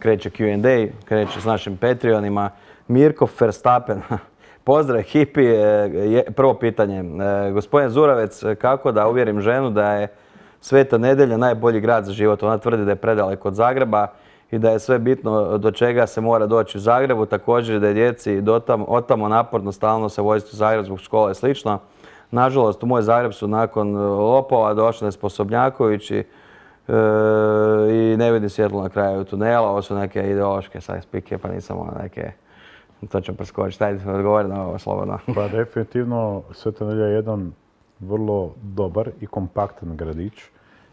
kreće Q&A, kreće s našim Patreonima. Mirko Verstappen, pozdrav ekipi. Prvo pitanje, gospodin Zuravec, kako da uvjerim ženu da je Sveta Nedelja najbolji grad za život? Ona tvrdi da je predaleko od Zagreba i da je sve bitno do čega se mora doći u Zagrebu. Također da je djeci otamo naporno stalno se voziti u Zagreb zbog škole i slično. Nažalost, u moj Zagreb su nakon lopova došli Nesposobnjaković i ne vidim svjetlo na kraju tunela. Ovo su neke ideološke spike, pa nisam neke... To ćemo preskočiti. Ajde, odgovori na ovo slobodno. Pa definitivno Sveta Nedjelja je jedan vrlo dobar i kompaktan gradić.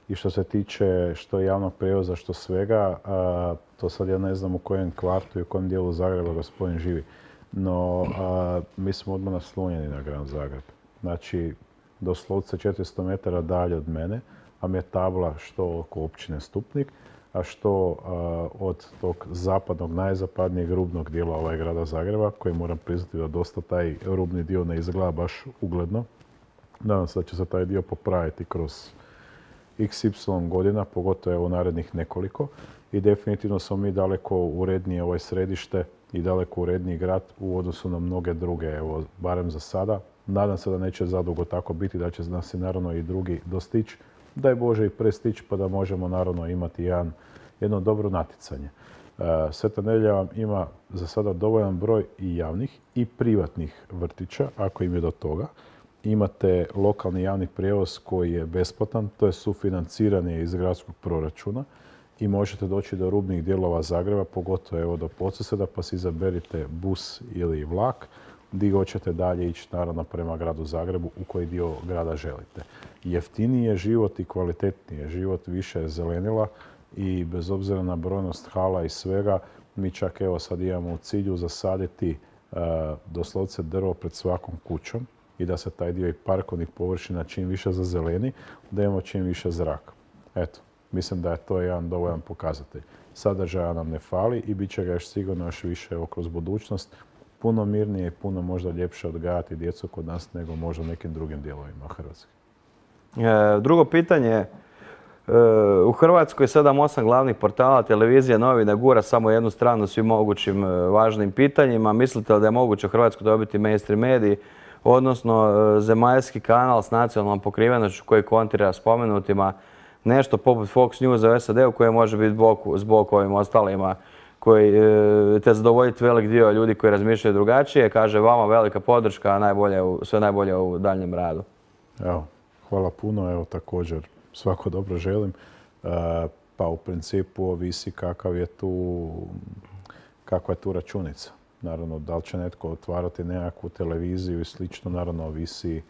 I što se tiče što javnog prijevoza, što svega, to sad ja ne znam u kojem kvartu i u kojem dijelu Zagreba gospodin živi. No, mi smo odmah naslonjeni na grad Zagreb. Znači, doslovce 400 metara dalje od mene, a mi je tabla što oko općine Stupnik, a što od tog zapadnog, najzapadnijeg rubnog dijela grada Zagreba, koji moram priznati da dosta taj rubni dio ne izgleda baš ugledno. Nadam se da će se taj dio popraviti kroz XY godina, pogotovo u narednih nekoliko. I definitivno smo mi daleko urednije središte i daleko uredniji grad u odnosu na mnoge druge, evo, barem za sada. Nadam se da neće zadugo tako biti, da će nas i naravno i drugi dostići. Daj Bože i prestići pa da možemo naravno imati jedno dobro natjecanje. Sveta Nedjelja vam ima za sada dovoljan broj i javnih i privatnih vrtića, ako im je do toga. Imate lokalni javni prijevoz koji je besplatan, to je sufinanciranje iz gradskog proračuna i možete doći do rubnih dijelova Zagreba, pogotovo evo do Podsljeda, pa si izaberite bus ili vlak, gdje hoćete dalje ići naravno prema gradu Zagrebu, u koji dio grada želite. Jeftiniji je život i kvalitetniji je život, više je zelenila i bez obzira na brojnost hala i svega, mi čak evo sad imamo u cilju zasaditi doslovce drvo pred svakom kućom i da se taj dio i parkovnih površina čim više zazeleni, da imamo čim više zraka. Eto, mislim da je to jedan dovoljan pokazatelj. Sadržaja nam ne fali i bit će ga još sigurno još više kroz budućnost. Puno mirnije i puno možda ljepše odgajati djecu kod nas nego možda u nekim drugim dijelovima Hrvatske. Drugo pitanje. U Hrvatskoj 7-8 glavnih portala, televizija, novina gura samo jednu stranu svim mogućim važnim pitanjima. Mislite li da je moguće u Hrvatskoj dobiti mainstream mediji, odnosno zemaljski kanal s nacionalnom pokrivenošću koji kontrira spomenutima, nešto poput Fox News u SAD-u koje može biti zbog ovim ostalima, koji te zadovoljiti velik dio ljudi koji razmišljaju drugačije. Kaže vama velika podrška, sve najbolje u daljnjem radu. Evo, hvala puno. Evo također svako dobro želim. Pa u principu ovisi kakva je tu računica. Naravno, da li će netko otvarati nekakvu televiziju i slično, naravno ovisi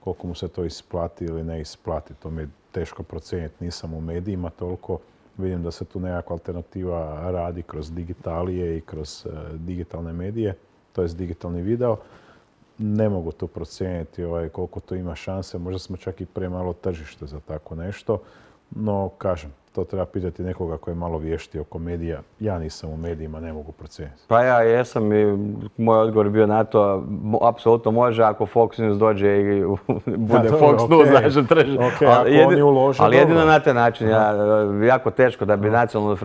koliko mu se to isplati ili ne isplati. To mi je teško procijeniti, nisam u medijima toliko. Vidim da se tu nekakva alternativa radi kroz digitalije i kroz digitalne medije, to jest digitalni video. Ne mogu to procijeniti koliko to ima šanse, možda smo čak i premalo tržište za tako nešto, no kažem, to treba pitati nekoga koji je malo vješti oko medija. Ja nisam u medijima, ne mogu procijeniti. Pa ja jesam i moj odgovor je bio na to, apsolutno može ako Fox News dođe i bude Fox News, znaš, tržište. Ali jedino na taj način, jako teško da bi nacionalnu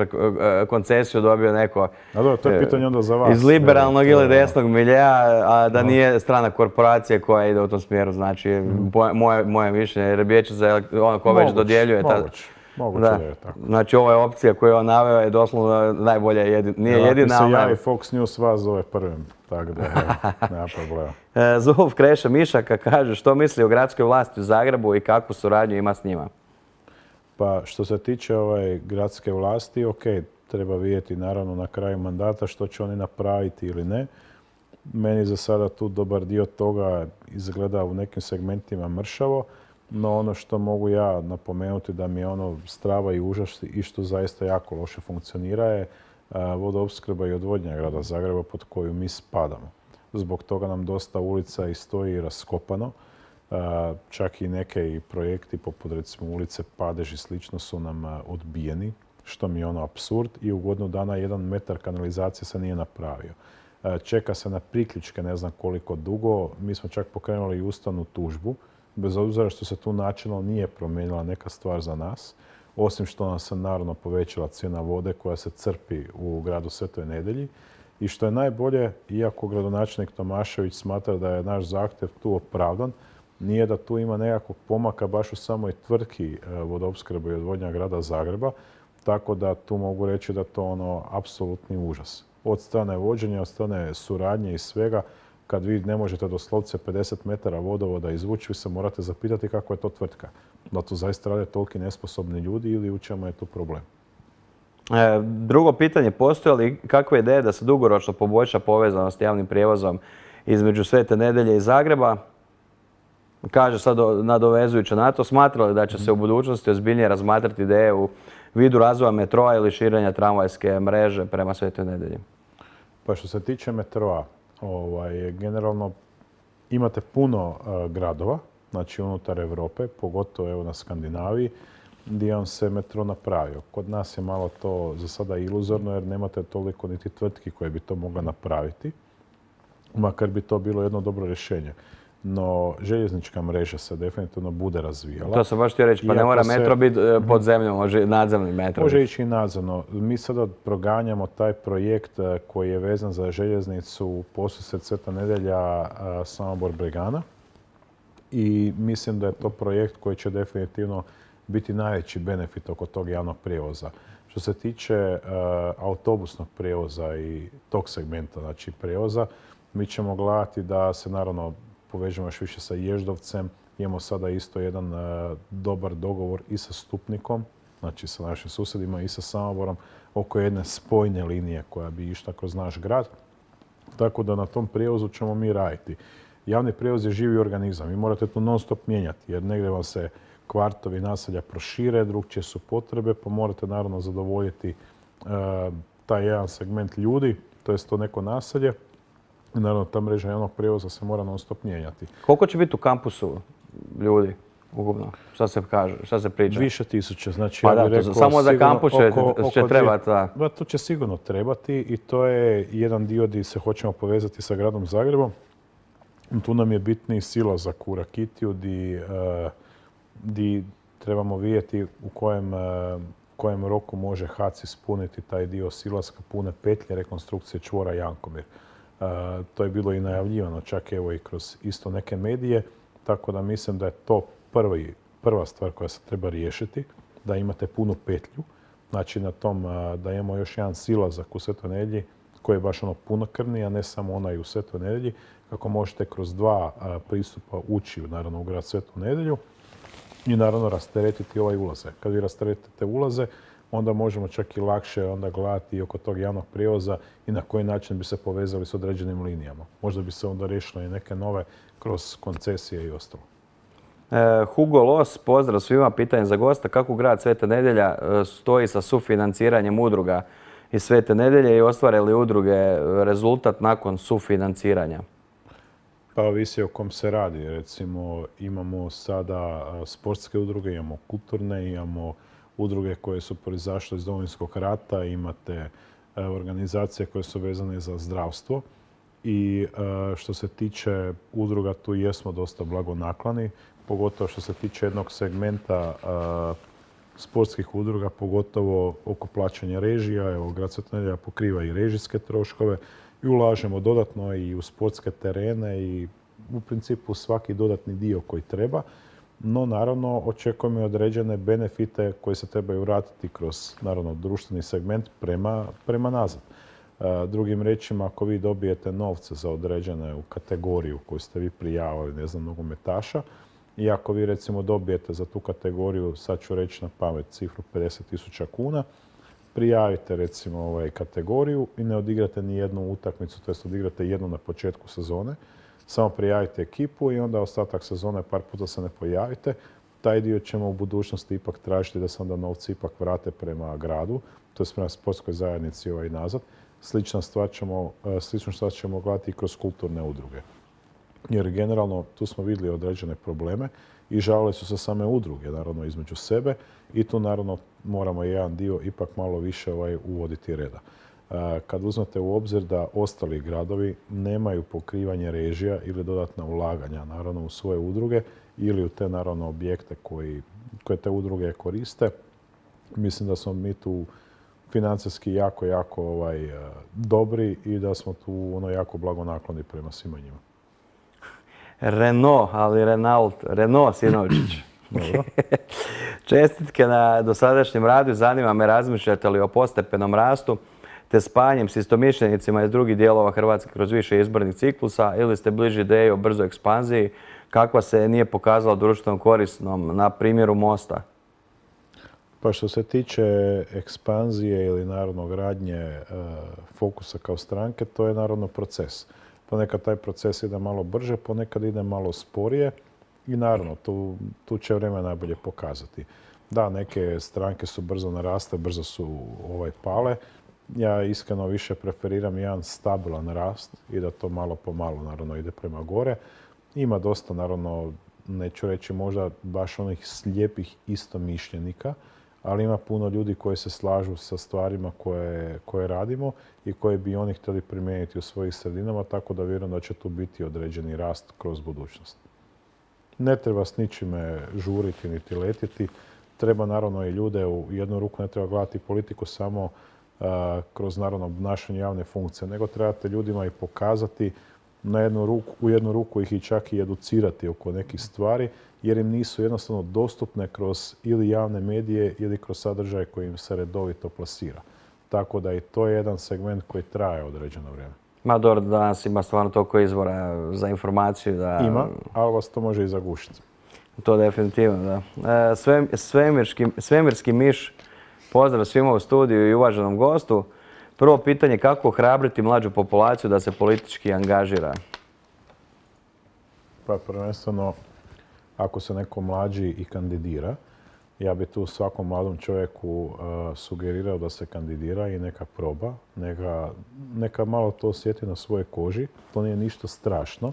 koncesiju dobio neko to je pitanje onda za vas. Iz liberalnog ili desnog miljeja, a da nije strana korporacija koja ide u tom smjeru. Znači, moje mišljenje, jer Vijeće za ono ko već dodjeljuje. Moguće da je tako. Znači, ova opcija koju je on naveo je doslovno najbolja, nije jedina. Ako se javi Fox News, vas zove prvim, tako da nema problema. Zulf Kreša Mišaka kaže što misli o gradskoj vlasti u Zagrebu i kakvu suradnju ima s njima. Pa što se tiče gradske vlasti, ok, treba vidjeti naravno na kraju mandata što će oni napraviti ili ne. Meni za sada tu dobar dio toga izgleda u nekim segmentima mršavo. No ono što mogu ja napomenuti da mi je strava i užas i što zaista jako loše funkcionira je vodoopskrba i odvodnja grada Zagreba pod koju mi spadamo. Zbog toga nam dosta ulica i stoji raskopano. Čak i neke projekti poput recimo ulice Padež i slično su nam odbijeni, što mi je apsurd i u godinu dana 1 metar kanalizacije se nije napravio. Čeka se na priključke ne znam koliko dugo. Mi smo čak pokrenuli i ustavnu tužbu. Bez obzira što se tu načelno nije promijenila neka stvar za nas, osim što nam se naravno povećala cijena vode koja se crpi u gradu Svetoj Nedjelji. I što je najbolje, iako gradonačelnik Tomašević smatra da je naš zahtjev tu opravdan, nije da tu ima nekakvog pomaka baš u samoj tvrtki vodoopskrbe i odvodnja grada Zagreba, tako da tu mogu reći da to apsolutni užas. Od strane vođenja, od strane suradnje i svega, kad vi ne možete doslovce 50 metara vodovoda izvući, vi se morate zapitati kako je to tvrtka. Da tu zaista rade toliki nesposobni ljudi ili u čemu je tu problem. Drugo pitanje, postoje li kakve ideje da se dugoročno poboljša povezanost javnim prijevozom između Svete Nedjelje i Zagreba? Kaže sad nadovezujuće na to, smatra li da će se u budućnosti ozbiljnije razmatrati ideje u vidu razvoja metroa ili širenja tramvajske mreže prema Svetoj Nedjelji? Pa što se tiče metroa, generalno imate puno gradova, znači unutar Europe, pogotovo evo na Skandinaviji, gdje on se metro napravio. Kod nas je malo to za sada iluzorno jer nemate toliko niti tvrtki koje bi to mogle napraviti, makar bi to bilo jedno dobro rješenje. No, željeznička mreža se definitivno bude razvijala. To sam baš htio reći, pa ne mora metro biti pod zemljom, može nadzemni metro. Može ići i nadzemno. Mi sada proganjamo taj projekt koji je vezan za željeznicu Podsused Sveta Nedjelja Samobor Bregana i mislim da je to projekt koji će definitivno biti najveći benefit oko tog javnog prijevoza. Što se tiče autobusnog prijevoza i tog segmenta, znači prijevoza, mi ćemo gledati da se naravno povežemo još više sa Ježdovcem. Imamo sada isto jedan dobar dogovor i sa Stupnikom, znači sa našim susjedima i sa Samoborom, oko jedne spojne linije koja bi išla kroz naš grad. Tako da na tom prijevozu ćemo mi raditi. Javni prijevoz je živi organizam. Vi morate tu non stop mijenjati jer negdje vam se kvartovi naselja prošire, drugčije su potrebe, pa morate naravno zadovoljiti taj jedan segment ljudi, to je to neko naselje. I naravno ta mreža javnog prijevoza se mora non stop mijenjati. Koliko će biti u kampusu ljudi ukupno? Šta se kaže, šta se priča? Više tisuća. Znači, pa ja bih rekao, samo za kampus će trebati. To će sigurno trebati i to je jedan dio gdje se hoćemo povezati sa gradom Zagrebom. Tu nam je bitniji silazak u Rakitiju gdje trebamo vidjeti u kojem roku može HAC ispuniti taj dio silaska pune petlje rekonstrukcije čvora Jankomir. To je bilo i najavljivano čak evo i kroz isto neke medije, tako da mislim da je to prva stvar koja se treba riješiti, da imate punu petlju. Znači na tom da imamo još jedan silazak u Svetoj Nedjelji koji je baš punokrvni, a ne samo onaj u Svetoj Nedjelji, kako možete kroz dva pristupa ući naravno u grad Svetu Nedjelju i naravno rasteretiti ovaj ulaze. Kad vi rasteretite ulaze, onda možemo čak i lakše onda gledati oko tog javnog prijevoza i na koji način bi se povezali s određenim linijama. Možda bi se onda riješile i neke nove kroz koncesije i ostalo. Hugo Los, pozdrav svima, pitanje za gosta. Kako grad Sveta Nedjelja stoji sa sufinanciranjem udruga iz Svete Nedjelje i ostvare li udruge rezultat nakon sufinanciranja? Pa ovisi o kom se radi. Recimo imamo sada sportske udruge, imamo kulturne, imamo udruge koje su proizašle iz Domovinskog rata, imate organizacije koje su vezane za zdravstvo i što se tiče udruga tu jesmo dosta blagonakloni, pogotovo što se tiče jednog segmenta sportskih udruga, pogotovo oko plaćanja režija. Evo, grad Sveta Nedjelja pokriva i režijske troškove i ulažemo dodatno i u sportske terene i u principu svaki dodatni dio koji treba. No, naravno, očekujemo i određene benefite koji se trebaju vratiti kroz, naravno, društveni segment prema nazad. Drugim riječima, ako vi dobijete novce za određene kategoriju koju ste vi prijavili, ne znam, nogometaša, i ako vi, recimo, dobijete za tu kategoriju, sad ću reći na pamet, cifru 50.000 kuna, prijavite, recimo, kategoriju i ne odigrate ni jednu utakmicu, to jest odigrate jednu na početku sezone, samo prijavite ekipu i onda ostatak sezone par puta se ne pojavite. Taj dio ćemo u budućnosti ipak tražiti da se onda novci ipak vrate prema gradu, to je prema sportskoj zajednici nazad. Sličnu stvar ćemo gledati i kroz kulturne udruge. Jer generalno tu smo vidjeli određene probleme i žalile su se same udruge, naravno, između sebe i tu naravno moramo jedan dio ipak malo više uvoditi reda. Kad uzmete u obzir da ostali gradovi nemaju pokrivanje režija ili dodatna ulaganja, naravno, u svoje udruge ili u te, naravno, objekte koje te udruge koriste, Mislim da smo mi tu financijski jako, jako dobri i da smo tu jako blagonakloni prema svima njima. Renault, ali Renault Sinovčić. Čestitke na dosadašnjem radu. Zanima me, razmišljate li o postepenom rastu te spajanjem s istomišljenicima iz drugih dijelova Hrvatske kroz više izbornih ciklusa, ili ste bliži ideji o brzoj ekspanziji kakva se nije pokazala društveno korisnom na primjeru Mosta? Pa što se tiče ekspanzije ili naravno gradnje Fokusa kao stranke, to je naravno proces. Ponekad taj proces ide malo brže, ponekad ide malo sporije i naravno tu će vrijeme najbolje pokazati. Da, neke stranke su brzo naraste, brzo su pale. Ja iskreno više preferiram jedan stabilan rast i da to malo po malo naravno ide prema gore. Ima dosta naravno, neću reći možda baš onih slijepih istomišljenika, ali ima puno ljudi koji se slažu sa stvarima koje radimo i koje bi oni htjeli primijeniti u svojih sredinama, tako da vjerujem da će tu biti određeni rast kroz budućnost. Ne treba s ničime žuriti niti letiti. Treba naravno i ljude u jednu ruku, ne treba gledati politiku samo kroz naravno obnašanje javne funkcije, nego trebate ljudima i pokazati u jednu ruku ih i čak i educirati oko nekih stvari, jer im nisu jednostavno dostupne kroz ili javne medije ili kroz sadržaj koji im se redovito plasira. Tako da i to je jedan segment koji traje određeno vrijeme. Ma dobro, danas ima stvarno toliko izvora za informaciju da... Ima, ali vas to može i zagušiti. To definitivno, da. Svemirski miš, pozdrav svima u studiju i uvaženom gostu. Prvo pitanje, kako ohrabriti mlađu populaciju da se politički angažira? Pa prvenstveno, ako se neko mlađi i kandidira, ja bi tu svakom mladom čovjeku sugerirao da se kandidira i neka proba, neka malo to osjeti na svojoj koži. To nije ništa strašno.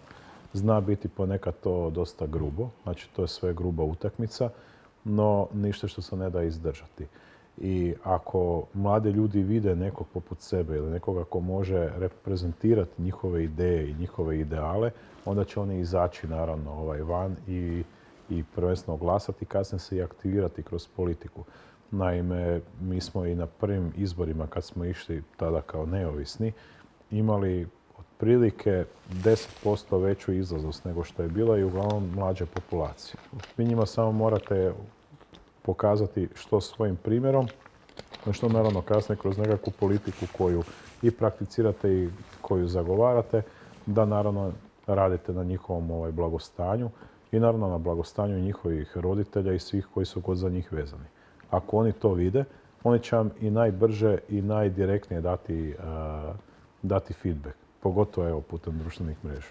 Zna biti ponekad to dosta grubo, znači to je sve gruba utakmica, no ništa što se ne da izdržati. I ako mladi ljudi vide nekog poput sebe ili nekoga ko može reprezentirati njihove ideje i njihove ideale, onda će oni izaći naravno van i prvenstveno glasati, kasnije se i aktivirati kroz politiku. Naime, mi smo i na prvim izborima, kad smo išli tada kao neovisni, imali otprilike 10% veću izlaznost nego što je bila i uglavnom mlađe populacije. Vi njima samo morate pokazati što svojim primjerom, što naravno kasnije kroz nekakvu politiku koju i prakticirate i koju zagovarate, da naravno radite na njihovom blagostanju i naravno na blagostanju njihovih roditelja i svih koji su za njih vezani. Ako oni to vide, oni će vam i najbrže i najdirektnije dati feedback, pogotovo putem društvenih mreža.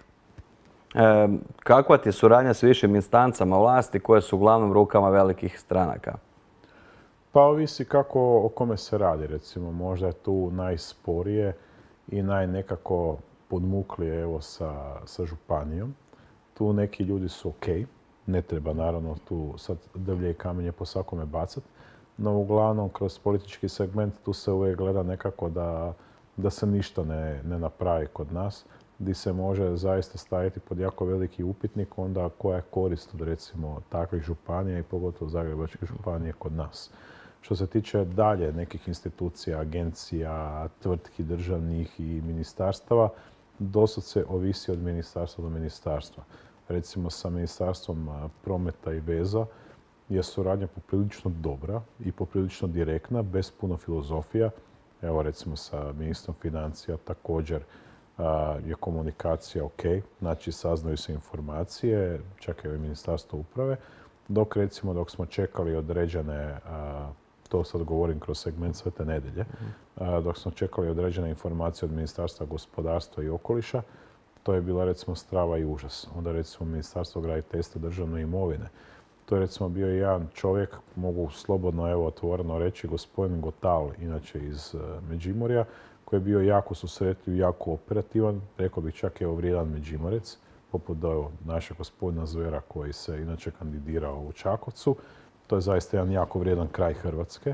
Kakva ti je suradnja s višim instancama vlasti koje su uglavnom rukama velikih stranaka? Pa ovisi o kome se radi. Recimo, možda je tu najsporije i najnekako podmuklije sa županijom. Tu neki ljudi su ok. Ne treba naravno tu sad drvlje i kamenje po svakome bacati. No uglavnom kroz politički segment tu se uvijek gleda nekako da se ništa ne napravi kod nas, gdje se može zaista staviti pod jako veliki upitnik onda koja je korist od recimo takvih županija i pogotovo Zagrebačke županije kod nas. Što se tiče dalje nekih institucija, agencija, tvrtki državnih i ministarstava, doslovce ovisi od ministarstva do ministarstva. Recimo sa Ministarstvom prometa i veza je suradnja poprilično dobra i poprilično direktna, bez puno filozofija. Evo recimo sa ministrom financija također je komunikacija ok, znači saznaju se informacije, čak i Ministarstvo uprave, dok smo čekali određene, to sad govorim kroz segment Svete nedjelje, dok smo čekali određene informacije od Ministarstva gospodarstva i okoliša, to je bila recimo strava i užas. Onda recimo Ministarstvo graditeljstva državne imovine. To je recimo bio jedan čovjek, mogu slobodno otvoreno reći, gospodin Gotal, inače iz Međimurja, koji je bio jako susretljiv, jako operativan, rekao bih čak vrijedan Međimurec, poput našeg gospodina Zvera koji se inače kandidirao u Čakovcu. To je zaista jedan jako vrijedan kraj Hrvatske,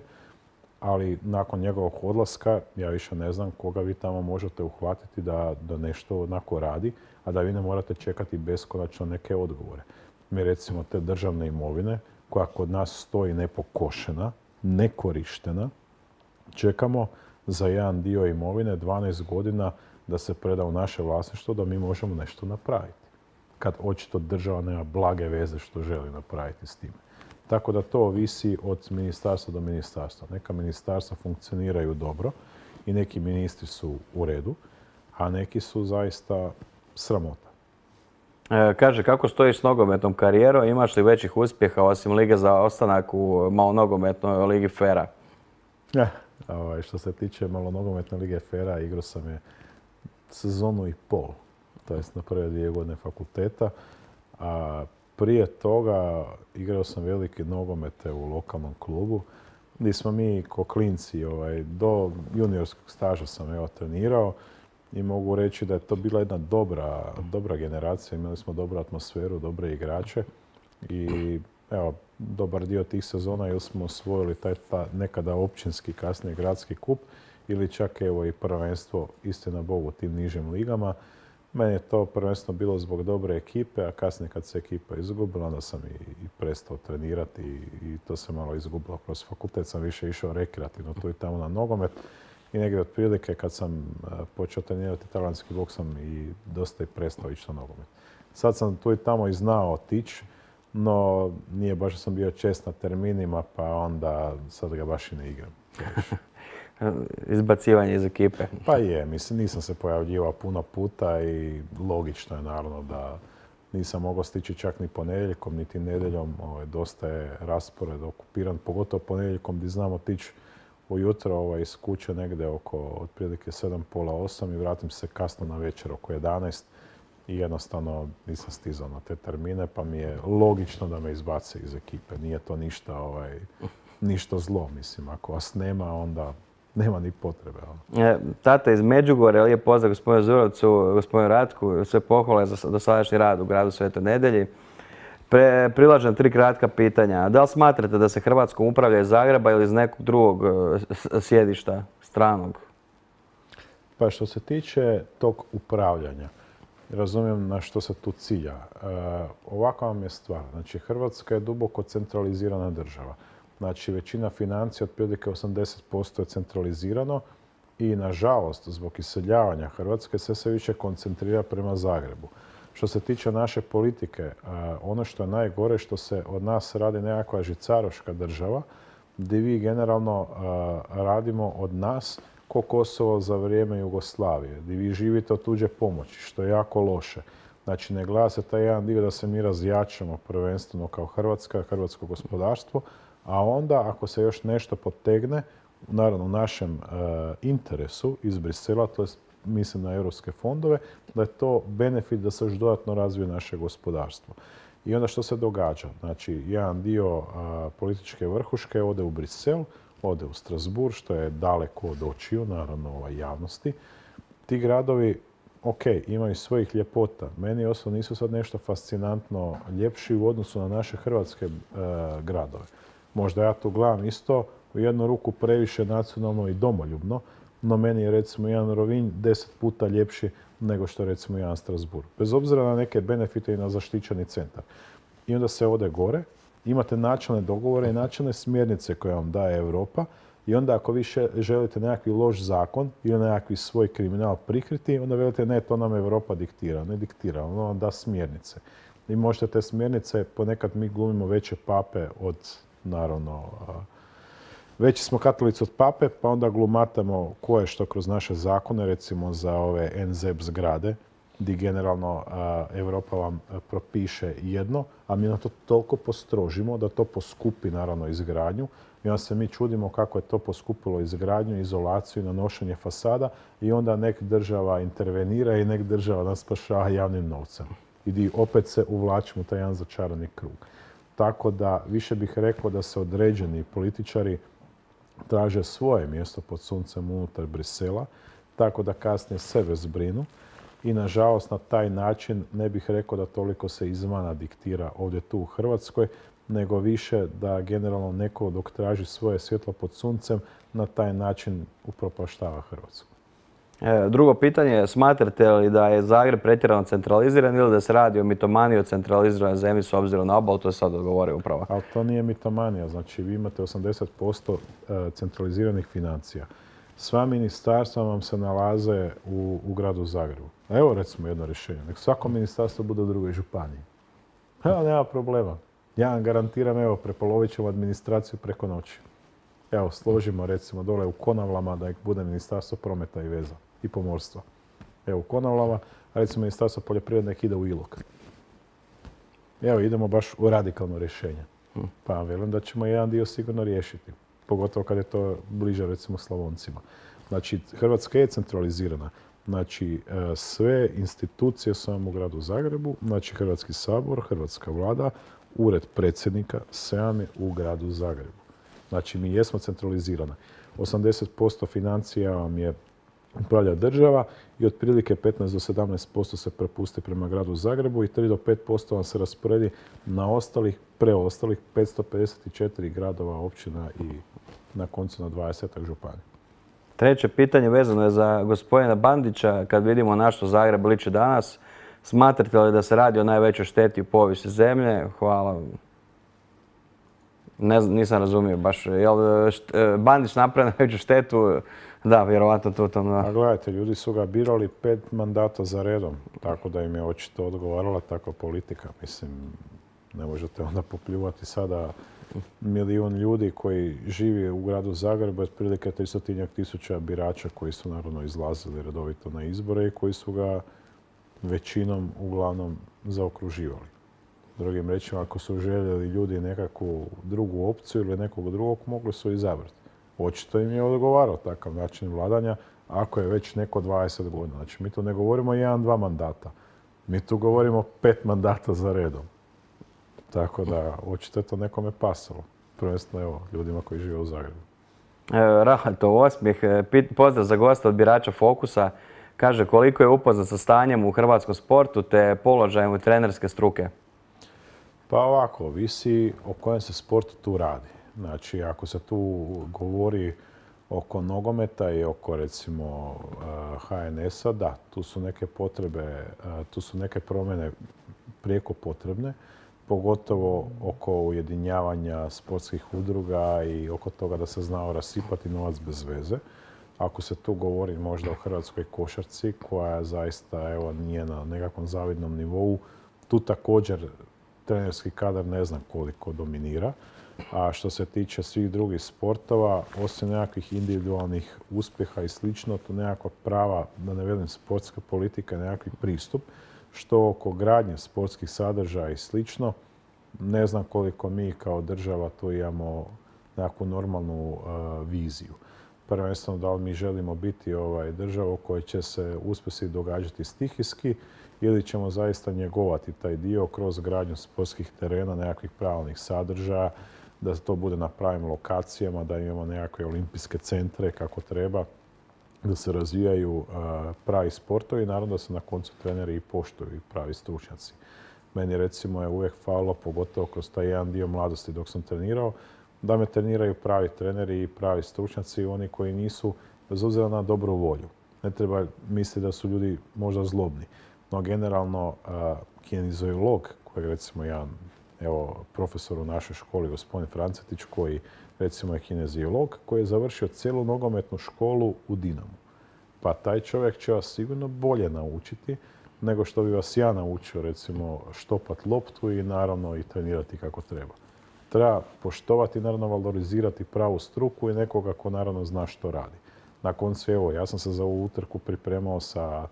ali nakon njegovog odlaska ja više ne znam koga vi tamo možete uhvatiti da nešto onako radi, a da vi ne morate čekati beskonačno neke odgovore. Mi recimo te državne imovine, koja kod nas stoji nepokošena, nekorištena. Čekamo za jedan dio imovine 12 godina da se preda u naše vlasništvo da mi možemo nešto napraviti. Kad očito država nema blage veze što želi napraviti s time. Tako da to ovisi od ministarstva do ministarstva. Neka ministarstva funkcioniraju dobro i neki ministri su u redu, a neki su zaista sramota. Kaže, kako stojiš s nogometnom karijerom? Imaš li većih uspjeha osim Lige za ostanak u malonogometnoj Ligi Fera? Što se tiče malonogometne Lige Fera, igrao sam je sezonu i pol. To jest na prve 2 godine fakulteta. A prije toga igrao sam velike nogomete u lokalnom klubu, gdje smo mi ko klinci do juniorskog staža sam trenirao i mogu reći da je to bila jedna dobra generacija. Imali smo dobru atmosferu, dobre igrače i dobar dio tih sezona ili smo osvojili taj nekada općinski, kasnije gradski kup ili čak i prvenstvo, istina Bogu, u tim nižim ligama. Meni je to prvenstveno bilo zbog dobre ekipe, a kasnije kad se ekipa izgubila, onda sam i prestao trenirati i to se malo izgubilo. Kroz fakultet sam više išao rekreativno tu i tamo na nogomet i negdje otprilike kad sam počeo trenirati talijanski boks sam i dosta i prestao ići na nogomet. Sad sam tu i tamo i znao otići, no nije baš da sam bio čest na terminima, pa onda sad ga baš i ne igram. Izbacivanje iz ekipe. Pa je, mislim, nisam se pojavljivao puno puta i logično je naravno da nisam mogao stići čak ni ponedjeljkom, niti nedjeljom. Dosta je raspored okupiran, pogotovo ponedjeljkom gdje znam otići ujutro iz kuće negdje oko otprilike 7, pola 8 i vratim se kasno na večer oko 11 i jednostavno nisam stizao na te termine, pa mi je logično da me izbace iz ekipe. Nije to ništa zlo, mislim. Ako vas nema, onda nema ni potrebe. Tata iz Međugorja, lijep pozdrav gospodinu Zurovcu, gospodinu Ratku, sve pohvale za dosadašnji rad u gradu Svetoj Nedjelji. Prilažem 3 kratka pitanja. Da li smatrate da se Hrvatskom upravlja iz Zagreba ili iz nekog drugog sjedišta, stranog? Pa što se tiče tog upravljanja, razumijem na što se tu cilja. Ovakva vam je stvar. Znači, Hrvatska je duboko centralizirana država. Znači, većina financija, otprilike 80% je centralizirano i, nažalost, zbog iseljavanja Hrvatske se sve više koncentrira prema Zagrebu. Što se tiče naše politike, ono što je najgore što se od nas radi nekakva žicaroška država, gdje vi generalno radimo od nas ko Kosovo za vrijeme Jugoslavije, gdje vi živite od tuđe pomoći, što je jako loše. Znači, ne gleda se taj jedan dio da se mi razjačamo prvenstveno kao Hrvatska, hrvatsko gospodarstvo, a onda ako se još nešto potegne, naravno u našem interesu iz Brisela, to je mislim na europske fondove, da je to benefit da se još dodatno razvije naše gospodarstvo. I onda što se događa? Znači, jedan dio političke vrhuške ode u Brisel, ode u Strasbourg, što je daleko od očiju, naravno javnosti. Ti gradovi, imaju svojih ljepota. Meni osobno nisu sad nešto fascinantno ljepši u odnosu na naše hrvatske gradove. Možda ja tu gledam isto u jednu ruku previše nacionalno i domoljubno, no meni je recimo jedan Rovinj 10 puta ljepši nego što je recimo jedan Strasbourg. Bez obzira na neke benefite i na zaštićeni centar. I onda se ode gore, imate načelne dogovore i načelne smjernice koje vam daje Europa i onda ako vi želite nekakvi loš zakon ili nekakvi svoj kriminal prikriti, onda velite ne, to nam Europa diktira. Ne diktira, ono vam da smjernice. I možete te smjernice, ponekad mi glumimo veće pape od, naravno, veći smo katolici od pape, pa onda glumatamo ko je što kroz naše zakone, recimo za ove NZEP zgrade, gdje generalno Europa vam propiše jedno, a mi na to toliko postrožimo da to poskupi naravno izgradnju. I onda se mi čudimo kako je to poskupilo izgradnju, izolaciju i nanošenje fasada i onda nek država intervenira i nek država nas spašava javnim novcem. I opet se uvlačimo u taj jedan začarani krug. Tako da više bih rekao da se određeni političari traže svoje mjesto pod suncem unutar Brisela, tako da kasnije sebe zbrinu. I nažalost na taj način ne bih rekao da toliko se izvana diktira ovdje tu u Hrvatskoj, nego više da generalno neko dok traži svoje svjetlo pod suncem na taj način upropaštava Hrvatsku. Drugo pitanje, smatrate li da je Zagreb pretjerano centraliziran ili da se radi o mitomaniji o centraliziranoj zemlji s obzirom na obalu, to je sad odgovorio upravo. Ali to nije mitomanija, znači vi imate 80% centraliziranih financija. Sva ministarstva vam se nalaze u gradu Zagrebu. Evo recimo jedno rješenje, nek svako ministarstvo bude u drugoj županiji. Evo, nema problema. Ja vam garantiram, evo, prepolovit ćemo administraciju preko noći. Evo, složimo recimo dole u Konavlama da bude ministarstvo prometa i veza i pomorstva. Evo u Konavlama, a recimo ministarstvo poljoprivrede nek ide u Ilok. Evo, idemo baš u radikalno rješenje. Pa vam velim da ćemo jedan dio sigurno riješiti. Pogotovo kad je to bliže recimo Slavoncima. Znači, Hrvatska je centralizirana. Znači, sve institucije su vam u gradu Zagrebu, znači Hrvatski sabor, Hrvatska vlada, ured predsjednika, sve vam je u gradu Zagrebu. Znači, mi jesmo centralizirani. 80% financija vam je upravlja država i otprilike 15 do 17% se prepusti prema gradu Zagrebu i 3 do 5% vam se rasporedi na preostalih 554 gradova, općina i na koncu na 20 županija. Treće pitanje vezano je za gospodina Bandića. Kad vidimo na što Zagreb liči danas, smatrate li da se radi o najvećoj šteti u povijesti zemlje? Hvala. Nisam razumio baš. Jel Bandić napravio najveću štetu? Da, vjerovatno tu tom. A gledajte, ljudi su ga birali 5 mandata za redom, tako da im je očito odgovarala takva politika. Mislim, ne možete onda popljuvati sada milijun ljudi koji živi u gradu Zagrebu, otprilike 300.000 birača koji su naravno izlazili redovito na izbore i koji su ga većinom uglavnom zaokruživali. Drugim rečima, ako su željeli ljudi nekakvu drugu opciju ili nekog drugog, mogli su izabrati. Očito im je odgovarao takav način vladanja ako je već neko 20 godina. Znači, mi tu ne govorimo 1-2 mandata. Mi tu govorimo 5 mandata za redom. Tako da, očito je to nekome pasalo. Prvenstveno, evo, ljudima koji žive u Zagrebu. Rahatov osmijeh. Pozdrav za gosta od birača Fokusa. Kaže, koliko je upoznat sa stanjem u hrvatskom sportu te položajem trenerske struke? Pa ovako, visi o kojem se sportu tu radi. Znači, ako se tu govori oko nogometa i oko, recimo, HNS-a, da, tu su neke potrebe, tu su neke promjene prijeko potrebne, pogotovo oko ujedinjavanja sportskih udruga i oko toga da se znao rasipati novac bez veze. Ako se tu govori možda o hrvatskoj košarci, koja zaista evo, nije na nekakvom zavidnom nivou, tu također trenerski kadar ne znam koliko dominira. A što se tiče svih drugih sportova, osim nekakvih individualnih uspjeha i slično, to nekakva prava, da ne velim sportska politika, nekakvi pristup, što oko gradnje sportskih sadržaja i slično, ne znam koliko mi kao država tu imamo nekakvu normalnu viziju. Prvenstveno da li mi želimo biti država u kojoj će se uspjesi događati stihijski ili ćemo zaista njegovati taj dio kroz gradnju sportskih terena, nekakvih pravilnih sadržaja, da to bude na pravim lokacijama, da imamo nekakve olimpijske centre kako treba, da se razvijaju pravi sportovi i naravno da se na koncu treneri i poštuju i pravi stručnjaci. Meni recimo je uvijek falilo, pogotovo kroz taj jedan dio mladosti dok sam trenirao, da me treniraju pravi treneri i pravi stručnjaci, oni koji nisu, bez obzira na dobru volju. Ne treba misliti da su ljudi možda zlobni. No generalno kinezijolog, koji je recimo jedan profesor u našoj školi, gospodin Francetić, koji recimo je kinezijolog, koji je završio cijelu nogometnu školu u Dinamu. Pa taj čovjek će vas sigurno bolje naučiti nego što bi vas ja naučio recimo štopat loptu i naravno i trenirati kako treba. Treba poštovati, naravno valorizirati pravu struku i nekoga ko naravno zna što radi. Na koncu, evo, ja sam se za ovu utrku pripremao sa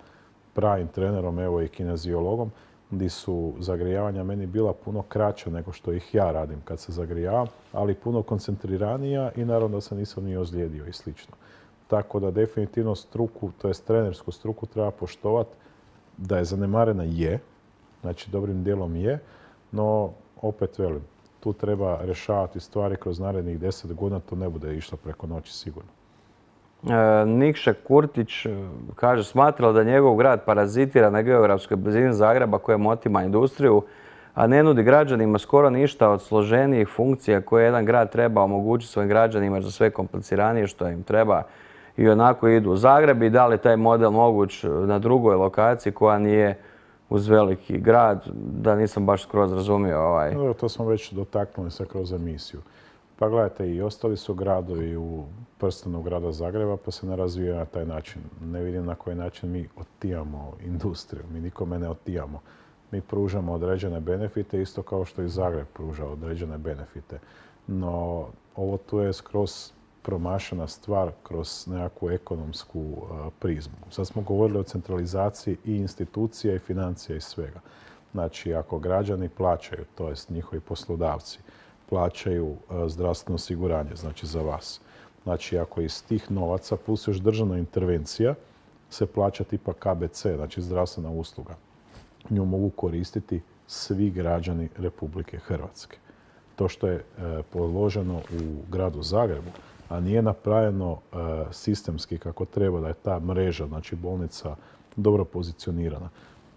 pravim trenerom, evo i kinezijologom, gdje su zagrijavanja meni bila puno kraća nego što ih ja radim kad se zagrijavam, ali puno koncentriranija i naravno da se nisam ni ozlijedio i slično. Tako da definitivno struku, to jest trenersku struku treba poštovati, da je zanemarena je, znači dobrim dijelom je, no opet velim, tu treba rješavati stvari kroz narednih 10 godina, to ne bude išlo preko noći sigurno. Nikša Kurtić kaže, smatrao da njegov grad parazitira na geografskoj blizini Zagreba kojem otima industriju, a ne nudi građanima skoro ništa od složenijih funkcija koje jedan grad treba omogućiti svojim građanima za sve kompliciranije što im treba. i onako idu u Zagreb i da li taj model moguć na drugoj lokaciji koja nije uz veliki grad, da nisam baš skroz razumio No, to smo već dotaknuli se kroz emisiju. Pa gledajte, i ostali su gradovi u prstenu grada Zagreba pa se ne razvijaju na taj način. Ne vidim na koji način mi otijamo industriju, mi nikome ne otijamo. Mi pružamo određene benefite, isto kao što i Zagreb pruža određene benefite. No, ovo tu je skroz promašena stvar kroz nekakvu ekonomsku prizmu. Sad smo govorili o centralizaciji i institucija i financija i svega. Znači, ako građani plaćaju, to jest njihovi poslodavci, plaćaju zdravstveno osiguranje, znači za vas. Znači, ako iz tih novaca plus još državna intervencija se plaća tipa KBC, znači zdravstvena usluga. Nju mogu koristiti svi građani Republike Hrvatske. To što je položeno u gradu Zagrebu, a nije napravljeno sistemski kako treba, da je ta mreža, znači bolnica, dobro pozicionirana.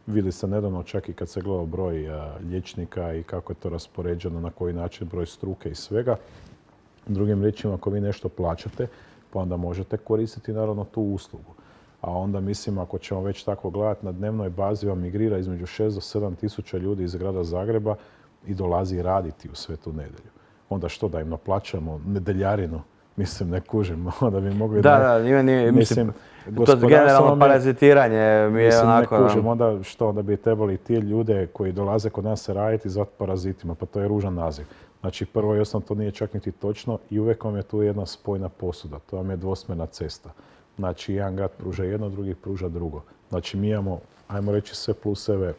Vidjeli ste nedavno čak i kad se gledao broj liječnika i kako je to raspoređeno, na koji način broj struke i svega. Drugim riječima, ako vi nešto plaćate, pa onda možete koristiti naravno tu uslugu. A onda mislim, ako ćemo već tako gledati, na dnevnoj bazi vam migrira između 6 do 7 tisuća ljudi iz grada Zagreba i dolazi raditi u Svetu Nedjelju. Onda što, da im naplaćamo nedeljarinu? Mislim, ne kužim. Onda bi mogli mislim, to generalno parazitiranje mi je onako... Ne kužim. Onda što, onda bi trebali ti ljude koji dolaze kod nas raditi zvati parazitima, pa to je ružan naziv. Znači, prvo i osnovno to nije čak niti točno i uvijek vam je tu jedna spojna posuda. To vam je dvosmjerna cesta. Znači, jedan grad pruža jedno, drugi pruža drugo. Znači, mi imamo, ajmo reći, sve pluseve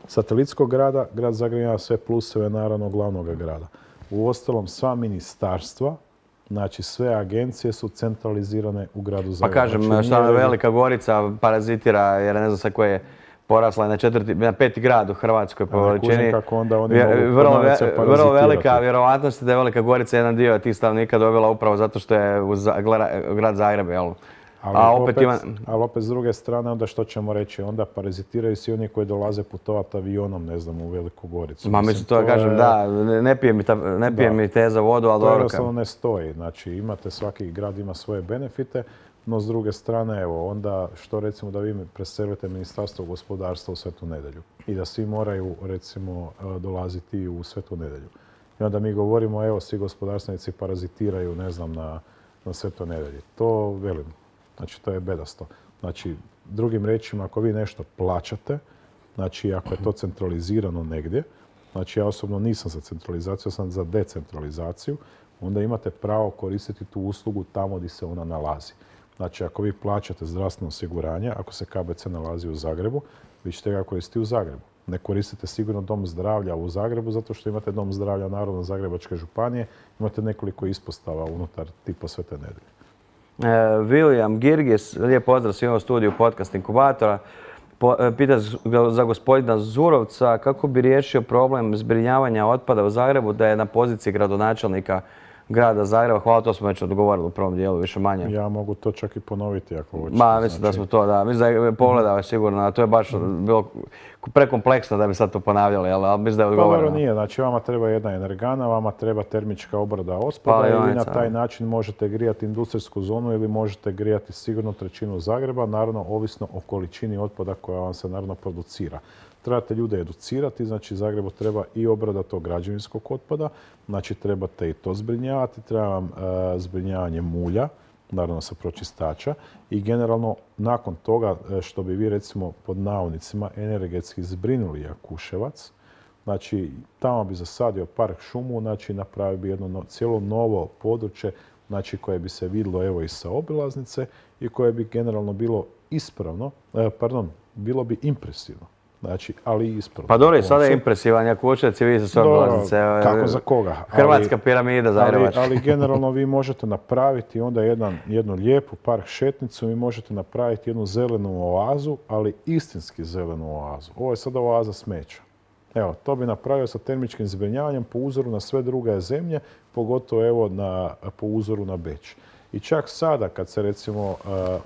satelitskog grada, grad Zagreb ima sve pluseve, naravno, glavnog grada. Uostalom, sva ministarstva, znači sve agencije su centralizirane u gradu Zagrebu. Pa kažem, znači, šta Velika Gorica parazitira, jer ne znam sa koje je porasla na peti grad u Hrvatskoj po veličini. Kako onda oni vrlo velika vjerovatnost je da je Velika Gorica jedan dio tih stanovnika dobila upravo zato što je grad Zagreb, jel? Ali opet s druge strane, onda što ćemo reći, onda parazitiraju svi oni koji dolaze putovati avionom, ne znam, u Veliku Goricu. Ma mislim to kažem, da, ne pije mi te za vodu, ali dobro. To jednostavno ne stoji. Znači, imate, svaki grad ima svoje benefite, no s druge strane, evo, onda što recimo da vi preselite Ministarstvo gospodarstva u Svetu Nedjelju i da svi moraju, recimo, dolaziti u Svetu Nedjelju. I onda mi govorimo, evo, svi gospodarstvenici parazitiraju, ne znam, na Svetoj Nedjelji. To velim. Znači, to je bedasto. Znači, drugim riječima, ako vi nešto plaćate, znači, ako je to centralizirano negdje, znači, ja osobno nisam za centralizaciju, sam za decentralizaciju, onda imate pravo koristiti tu uslugu tamo gdje se ona nalazi. Znači, ako vi plaćate zdravstveno osiguranje, ako se KBC nalazi u Zagrebu, vi ćete ga koristiti u Zagrebu. Ne koristite sigurno dom zdravlja u Zagrebu, zato što imate dom zdravlja Narodno Zagrebačke županije, imate nekoliko ispostava unutar tipa Svete Nedjelje. William Girgis, lijep pozdrav svima u studiju Podcast Inkubatora. Pita za gospodina Zurovca kako bi riješio problem zbrinjavanja otpada u Zagrebu da je na poziciji gradonačelnika grada Zagreba. Hvala, to smo već odgovorili u prvom dijelu, više manje. Ja mogu to čak i ponoviti ako hoćete. Mislim da smo to, da. Mislim da je pogledao sigurno, a to je baš bilo prekompleksno da bi sad to ponavljali, ali mislim da je odgovoreno. Pa nije, znači vama treba jedna energana, vama treba termička obrada otpada i vi na taj način možete grijati industrijsku zonu ili možete grijati sigurno trećinu Zagreba, naravno ovisno o količini otpada koja vam se naravno producira. Trebate ljude educirati, znači Zagrebu treba i obrada tog građevinskog otpada, znači trebate i to zbrinjavati, treba vam zbrinjavanje mulja, naravno sa pročistača i generalno nakon toga što bi vi recimo pod navodnicima energetski zbrinuli Jakuševac, znači tamo bi zasadio park šumu, znači napravio bi jedno cijelo novo područje, znači koje bi se vidjelo evo i sa obilaznice i koje bi generalno bilo ispravno, bilo bi impresivno. Znači, ali i ispravno. Pa dobro, sada je impresivan Jakuševac i vi sa svoje obilaznice. Kako za koga? Hrvatska piramida Zagrebačka. Ali generalno vi možete napraviti onda jednu lijepu park šetnicu, vi možete napraviti jednu zelenu oazu, ali istinski zelenu oazu. Ovo je sada oaza smeća. Evo, to bi napravio sa termičkim zbrinjavanjem po uzoru na sve druge zemlje, pogotovo evo po uzoru na Beč. I čak sada kad se recimo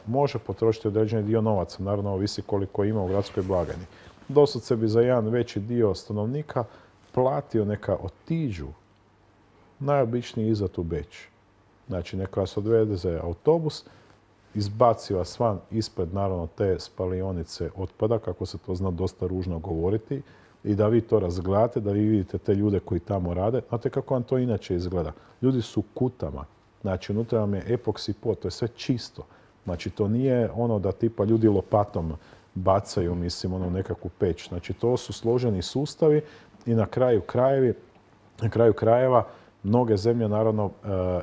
može potrošiti određeni dio novaca, naravno ovisi koliko ima u gradskoj blagajni, doslovce bi za jedan veći dio stanovnika platio neka otiđu najobičniji izlet u Beč. Znači, neka vas odveze autobus, izbaci vas van ispred, naravno, te spalionice otpada, kako se to zna dosta ružno govoriti, i da vi to razgledate, da vi vidite te ljude koji tamo rade. Znate kako vam to inače izgleda? Ljudi su kutama. Znači, unutra vam je epoksi pod, to je sve čisto. Znači, to nije ono da tipa ljudi lopatom bacaju, mislim, ono nekakvu peć. Znači, to su složeni sustavi i na kraju krajeva mnoge zemlje naravno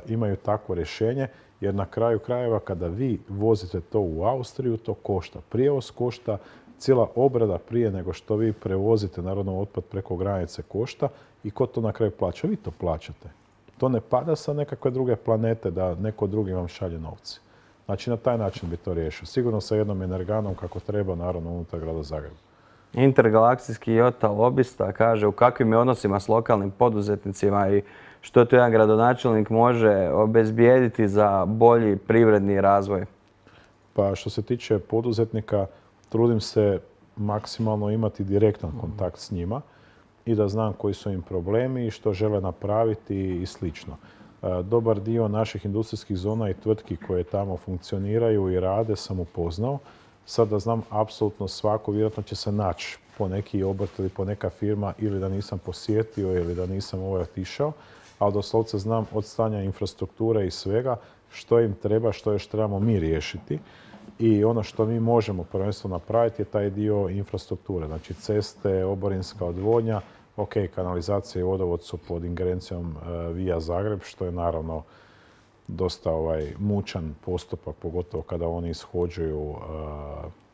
imaju takvo rješenje, jer na kraju krajeva kada vi vozite to u Austriju, to košta. Prijevoz košta, cijela obrada prije nego što vi prevozite naravno otpad preko granice košta i ko to na kraju plaća? Vi to plaćate. To ne pada sa nekakve druge planete da neko drugi vam šalje novci. Znači, na taj način bi to riješio. Sigurno sa jednom energanom kako treba, naravno, unutar grada Zagreba. Intergalaksijski Jota lobista kaže u kakvim je odnosima s lokalnim poduzetnicima i što to jedan gradonačelnik može obezbijediti za bolji privredni razvoj? Pa što se tiče poduzetnika, trudim se maksimalno imati direktan kontakt s njima i da znam koji su im problemi i što žele napraviti i slično. Dobar dio naših industrijskih zona i tvrtki koje tamo funkcioniraju i rade sam upoznao. Sad da znam apsolutno svako, vjerojatno će se naći po neki obrt ili po neka firma ili da nisam posjetio ili da nisam otišao, ali doslovce znam od stanja infrastrukture i svega što im treba, što još trebamo mi riješiti. I ono što mi možemo prvenstveno napraviti je taj dio infrastrukture, znači ceste, oborinska odvodnja, ok, kanalizacija i vodovod su pod ingerencijom Via Zagreb, što je naravno dosta mučan postupak, pogotovo kada oni ishođuju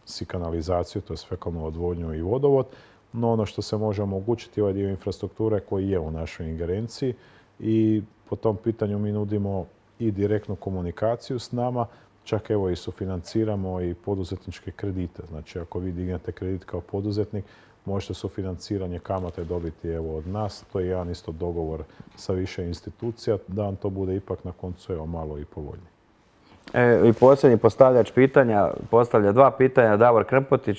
si kanalizaciju, to je fekalnu odvodnju i vodovod. No ono što se može omogućiti je ovaj dio infrastrukture koji je u našoj ingerenciji i po tom pitanju mi nudimo i direktnu komunikaciju s nama, čak evo i sufinanciramo i poduzetničke kredite. Znači ako vi dignete kredit kao poduzetnik, možete sufinanciranje kamate dobiti evo od nas. To je jedan isto dogovor sa više institucija da vam to bude ipak na koncu evo malo i povoljnije. I posljednji postavljač pitanja, postavlja dva pitanja, Davor Krmpotić.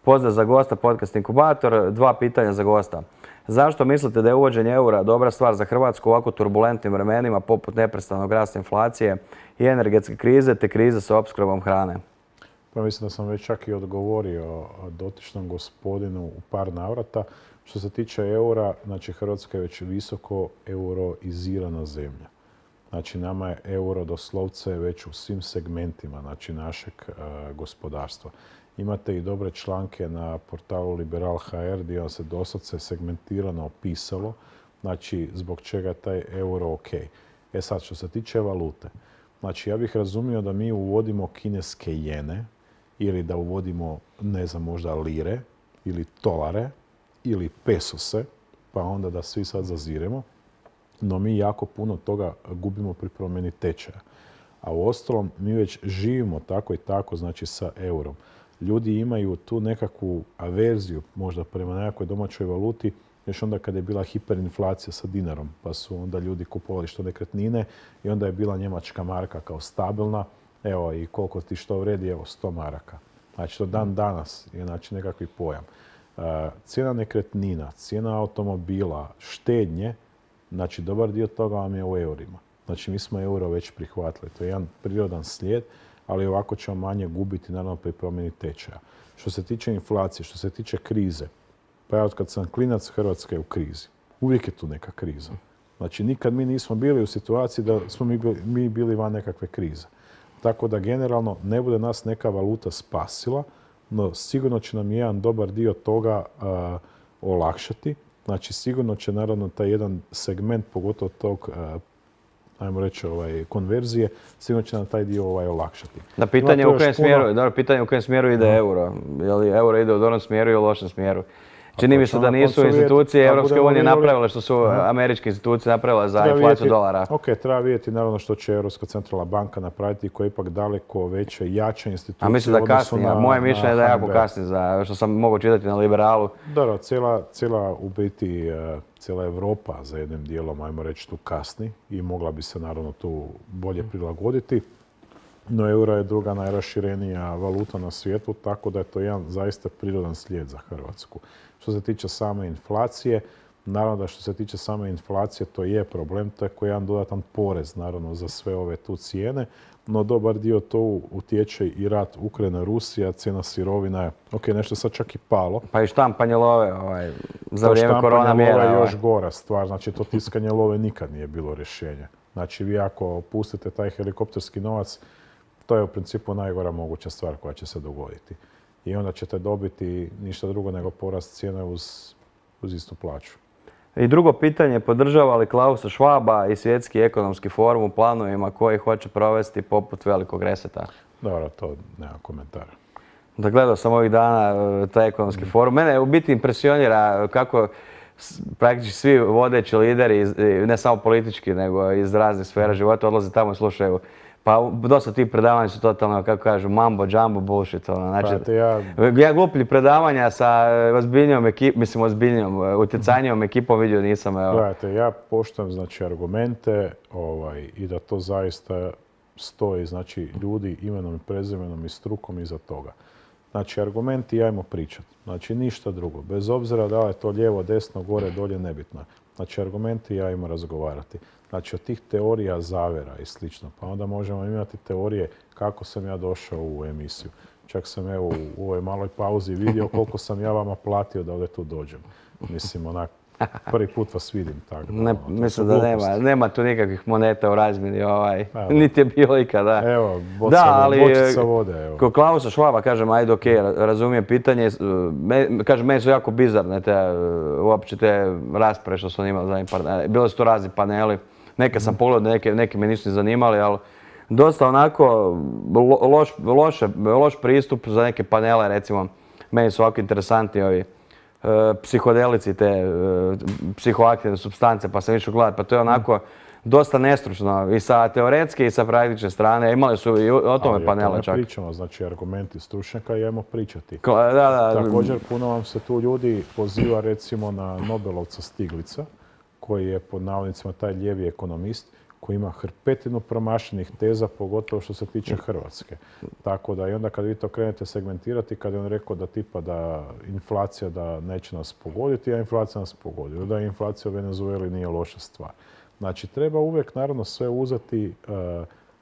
Pozdrav za gosta, podcast Inkubator. Dva pitanja za gosta. Zašto mislite da je uvođenje eura dobra stvar za Hrvatsku u ovako turbulentnim vremenima poput neprestanog rasta inflacije i energetske krize te krize sa opskrbom hrane? Pa mislim da sam već čak i odgovorio dotičnom gospodinu u par navrata. Što se tiče eura, znači Hrvatska je već visoko euroizirana zemlja. Znači nama je euro doslovce već u svim segmentima znači našeg gospodarstva. Imate i dobre članke na portalu Liberal.hr gdje vam se doslovce segmentirano opisalo znači zbog čega je taj euro ok. E sad, što se tiče valute, znači ja bih razumio da mi uvodimo kineske jene ili da uvodimo, ne znam, možda lire ili tolare ili pesose, pa onda da svi sad zaziremo. No mi jako puno toga gubimo pri promjeni tečaja. A uostalom mi već živimo tako i tako, znači sa eurom. Ljudi imaju tu nekakvu averziju možda prema nekakvoj domaćoj valuti, još onda kada je bila hiperinflacija sa dinarom, pa su onda ljudi kupovali što nekretnine i onda je bila njemačka marka kao stabilna, evo i koliko ti što vredi, evo 100 maraka. Znači to dan danas je znači nekakvi pojam. Cijena nekretnina, cijena automobila, štednje, znači dobar dio toga vam je u eurima. Znači mi smo euro već prihvatili, to je jedan prirodan slijed, ali ovako ćemo manje gubiti naravno pri promjeni tečaja. Što se tiče inflacije, što se tiče krize, pa ja od kad sam klinac, Hrvatska je u krizi. Uvijek je tu neka kriza. Znači nikad mi nismo bili u situaciji da smo mi bili van nekakve krize. Tako da generalno ne bude nas neka valuta spasila, no sigurno će nam jedan dobar dio toga olakšati. Znači sigurno će naravno taj jedan segment, pogotovo tog ajmo reći, konverzije, sigurno će nam taj dio olakšati. Da, pitanje u kojem smjeru ide euro. Je li euro ide u dobrom smjeru ili u lošem smjeru? Čini mi se da nisu institucije Europske unije napravile što su američke institucije napravile za inflaciju dolara. Ok, treba vidjeti naravno što će Europska centralna banka napraviti koja je ipak daleko veće, jače institucije. A mislim da kasni, moje mišljenje je da jako kasni, što sam mogao čitati na Liberalu. Da, cijela u biti, cijela Europa za jednim dijelom, ajmo reći, tu kasni i mogla bi se naravno tu bolje prilagoditi. No euro je druga najraširenija valuta na svijetu, tako da je to jedan zaista prirodan slijed za Hrvatsku. Što se tiče same inflacije, Naravno da što se tiče same inflacije, to je problem, to je koji jedan dodatan porez, naravno, za sve ove tu cijene, no dobar dio to utječe i rat Ukrajina-Rusija, cijena sirovina je, ok, nešto sad čak i palo. Pa i štampanje love za vrijeme korona mjera. Štampanje love je još gora stvar, znači to tiskanje love nikad nije bilo rješenje. Znači vi ako pustite taj helikopterski novac, to je u principu najgora moguća stvar koja će se dogoditi. I onda ćete dobiti ništa drugo nego porast cijene uz istu plaću. I drugo pitanje, podržava li Klausa Schwaba i Svjetski ekonomski forum u planovima koji hoće provesti poput velikog reseta? Dobro, to nema komentara. Da, gledao sam ovih dana taj ekonomski forum. Mene u biti impresionira kako praktički svi vodeći lideri, ne samo politički, nego iz raznih sfera života, odlaze tamo i slušaju. Pa dosta tih predavanja su totalno, kako kažu, mambo, jumbo, bullshit. Znači, ja gluplji predavanja sa ozbiljnijom ekipom, mislim ozbiljnijom, utjecajnijom ekipom vidio nisam. Gledajte, ja poštujem znači argumente i da to zaista stoji, znači ljudi imenom i prezimenom i strukom iza toga. Znači argumenti ajmo pričati, znači ništa drugo. Bez obzira da li je to lijevo, desno, gore, dolje, nebitno. Znači argumenti ajmo razgovarati. Znači od tih teorija zavjera i slično. Pa onda možemo imati teorije kako sam ja došao u emisiju. Čak sam evo u ovoj maloj pauzi vidio koliko sam ja vama platio da ovdje tu dođem. Mislim, onak, prvi put vas vidim tako. Mislim da nema tu nikakvih moneta u razmjeni, niti je bilo ikada. Evo, bočica vode. Kod Klausa Schwaba, kažem, ajde ok, razumijem pitanje. Kažem, meni su jako bizarne uopće te rasprave što sam imao zadnjih par dana. Bili su to razni paneli. Neke sam pogledao, neke me nisu ni zanimali, ali dosta onako loš pristup za neke panele, recimo. Meni su ovako interesantni ovi psihodelici, te psihoaktivne supstance, pa sam išao gledati, pa to je onako dosta nestručno i sa teoretske i sa praktične strane. Imali su i o tome panele čak. Ali pričamo, znači argumenti stručnjaka i ajmo pričati. Da. Također puno vam se tu ljudi poziva recimo na Nobelovca Stiglica, koji je pod navodnicima taj lijevi ekonomist, koji ima hrpetinu promašenih teza, pogotovo što se tiče Hrvatske. Tako da i onda kad vi to krenete segmentirati, kad je on rekao da tipa da inflacija da neće nas pogoditi, a inflacija nas pogodi. Da inflacija u Venezueli nije loša stvar. Znači treba uvijek naravno sve uzeti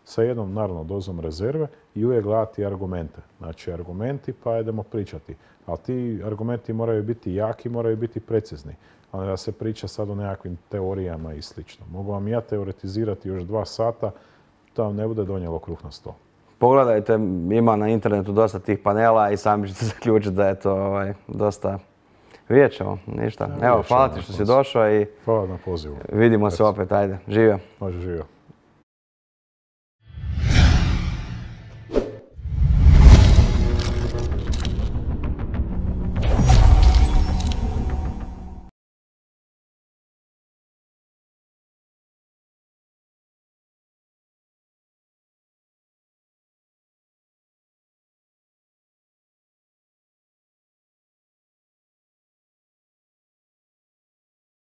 sa jednom naravno dozom rezerve i uvijek gledati argumente. Znači argumenti pa idemo pričati. Ali ti argumenti moraju biti jaki, moraju biti precizni. A ne da se priča sad o nekakvim teorijama i slično. Mogu vam ja teoretizirati još 2 sata, to vam ne bude donijelo kruh na sto. Pogledajte, ima na internetu dosta tih panela i sami ćete zaključiti da je to dosta... Vidjet ćemo, ništa. Evo, hvala ti što si došao i... Hvala na pozivu. Vidimo se opet, ajde, živio. Može, živio.